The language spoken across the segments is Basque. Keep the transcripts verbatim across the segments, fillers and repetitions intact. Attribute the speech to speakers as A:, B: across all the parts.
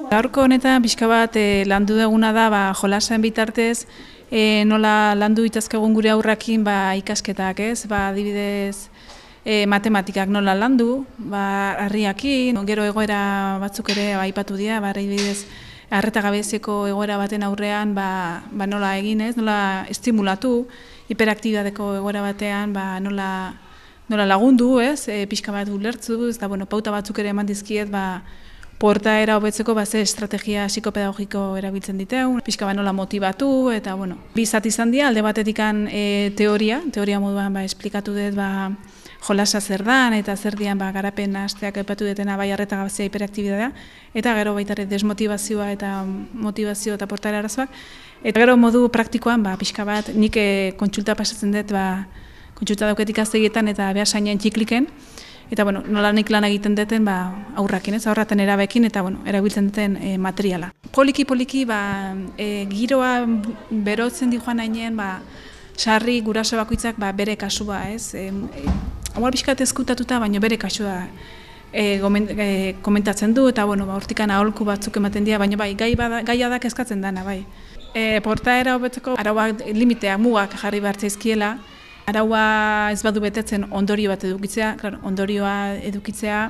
A: Gaurko honetan pixka bat e, landu duguna da ba, jolasen bitartez e, nola landu itazkegun gure aurrakin ba, ikasketak, ez? Ba, adibidez e, matematikak nola landu, ba, harriakin, gero egoera batzuk ere ba, aipatu dira, ba, adibidez arreta gabezeko egoera baten aurrean ba, ba, nola egin, ez? Nola estimulatu, hiperaktibadeko egoera batean ba, nola, nola lagundu, ez? E, pixka bat ulertzu, ez da, bueno, pauta batzuk ere eman dizkiet, ba, portaera hobetzeko ba, ze estrategia psikopedagogiko erabiltzen diteun, pixka bat nola motibatu, eta bueno, bi zati izan dira, alde batetikan e, teoria, teoria moduan ba, esplikatu dut ba, jolasa zer dan, eta zer dian ba, garapen hasteak aipatu detena bai arreta gabezia hiperaktibitatea, eta gero baita ere desmotivazioa eta motivazio eta portaera arazoak, eta gero modu praktikoan ba, pixka bat nik e, kontsulta pasatzen dut, ba, kontsulta dauketik aztegietan eta behar zainean txikliken, eta bueno, nola nik lan egiten duten ba, aurrakin, ez, aurraten erabekin, eta bueno, erabiltzen duten e, materiala. Poliki-poliki ba, e, giroa berotzen di joan hainean, ba, sarri guraso bakoitzak ba, bere kasua, ez, e, e, Haual pixkat ezkutatuta, baina bere kasua e, gomen, e, komentatzen du, eta bueno, ba, hortikan aholku batzuk ematen dira, baina bai, gai bada, gaia da kezkatzen dana, bai. E, portaera hobetzeko arauak limiteak mugak jarri behar zaizkiela, araua ez badu betetzen ondorio bat edukitzea, claro, ondorioa edukitzea,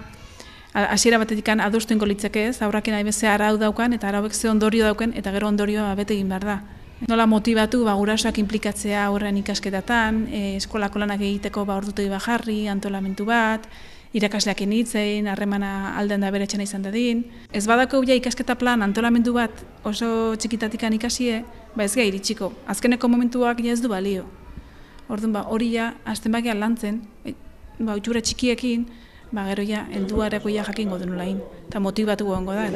A: hasiera batetik adostu ingo litzake ez, aurrakin nahi bezea arau daukan, eta arauek ze ondorio dauken, eta gero ondorioa bete egin behar da. Nola motibatu, ba, gurasoak inplikatzea horren ikasketatan, e, eskolako lanak egiteko ba, ordutegi bat jarri, antolamentu bat, irakasleak hitzein, harremana alden da bere etxena izan dadin. Ez badako ja ikasketa plan antolamendu bat oso txikitatikan ikasie, ba ez gai iritsiko. Azkeneko momentuak ja ez du balio. Orduan ba, hori ja, azten bakian lantzen, ba, utxura txikiekin, ba, gero ja, helduareko ja jakingo denulain, eta motibatu gongo da.